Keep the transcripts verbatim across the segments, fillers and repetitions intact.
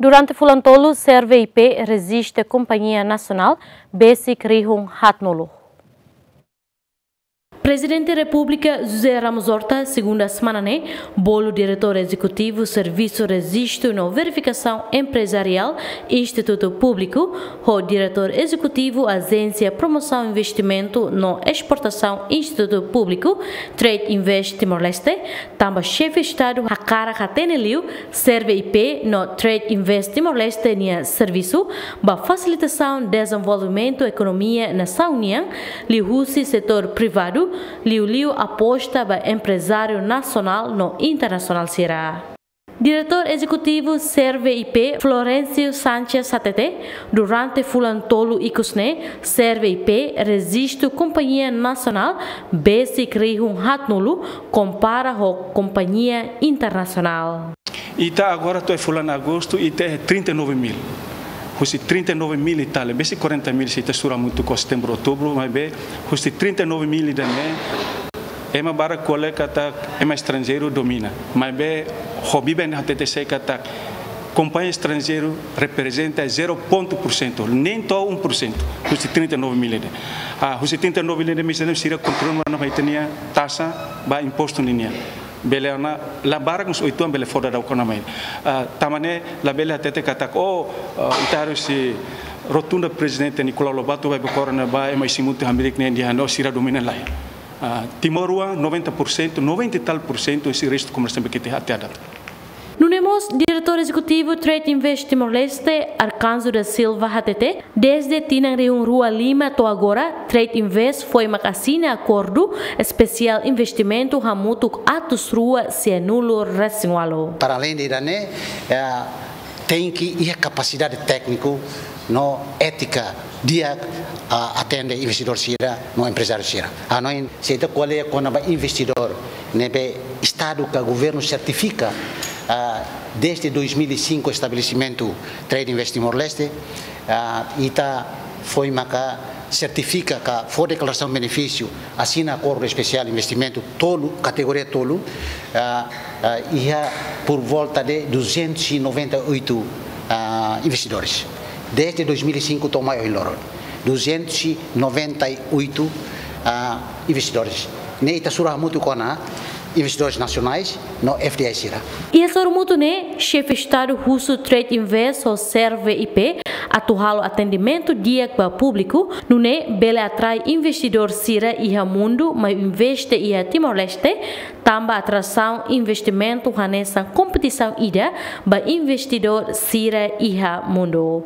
Durante fulan tolu, Serve I P rejista kompañia nasionál besik rihun haatnulu. Prezidente Repúblika José Ramos Horta, segunda semana ne'e, bolu Diretór Ezekutivu Servisu Rejistu no Verifikasaun Emprezariál Institutu Públiku, ho Diretór Ezekutivu Ajénsia Promosaun Investimentu no Esportasaun Institutu Públiku, Trade Invest Timor-Leste, tanba Xefe Estadu hakarak hatene liu Serve I P no Trade Invest Timor-Leste nia servisu ba fasilitasaun dezenvolvimentu ekonomia nasaun nian, liuhusi setór privadu, liuliu aposta ba emprezáriu nasionál no internasionál sira. Diretór Ezekutivu Serve I P, Florencio Sanchez hatete, durante fulan tolu ikus ne'e, Serve I P rejista kompañia nasionál besik rihun haatnulu, kompara ho kompañia internasionál. Ita agora to'o fulan agostu, ita iha trinta e nove mil. Husi trinta e nove mil e tal, besik quarenta mil se ita sura hamutuk ho setembru, outubru, maibé husi trinta e nove mil ida-ne'e, ema barak ko'alia katak ema estranjeiru domina. Maibé ho biben hatete sei katak kompañia estranjeiru reprezenta zero ponto por cento, nem to'o um por cento, husi trinta e nove mil ida. Ah, husi trinta e nove mil ida, misalnya sira kontribui ona ba ita-nia taxa ba impostu ninian. Bele ona, la barak mós oituan bele fó daudauk ona mai. Ah, tanba ne'e labele hatete katak, oh, ah, ita harus sei rotunda Prezidente Nicolau Lobato ba bekora na ba ema isin-mutin hamriik ne'e dehan, oh, sira domina, lae. Ah, timoroan, noventa por cento, noventa e tal por cento, husi restu komersiante be kete hati adat. Nune'e mós, Diretór Ezekutivu Trade Invest Timor-Leste, Arcanjo da Silva hatete, dezde tinan rihun rua lima to'o agora, Trade Invest foin mak asina akordu espesiál investimentu hamutuk atus rua sianulu resin ualu. Para além de ida-ne'e, eh, tenke iha kapasidade tékniku no étika di'ak, ah, atende investidór sira no emprezáriu sira. Hanoin, se ita ko'alia kona-ba investidór ne'ebé Estadu ka governu sertifika, ah, dezde dois mil e cinco estabelesimentu Trade Invest Timor-Leste, ah, ita foin maka sertifika ka fó deklarasaun benefísiu, asina akordu espesiál investimentu tolu, kategoria tolu, ah, ah, iha por volta de duzentos e noventa e oito, ah, investidores. Dezde dois mil e cinco to'o mai ohin loron, duzentos e noventa e oito, ah, investidores. Ne'e ita sura hamutuk ho investidores nasionais no F D I sira. Iha sorumutu ne'e, Xefe Estadu husu Trade Invest ho Serve I P atu halo atendimentu di'ak ba públiku, nune'e bele atrai investidór sira iha mundu mai investe iha Timor-Leste, tanba atrasaun investimentu hanesan kompetisaun ida ba investidór sira iha mundu.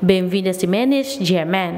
Benvinda Ximenes, G M N.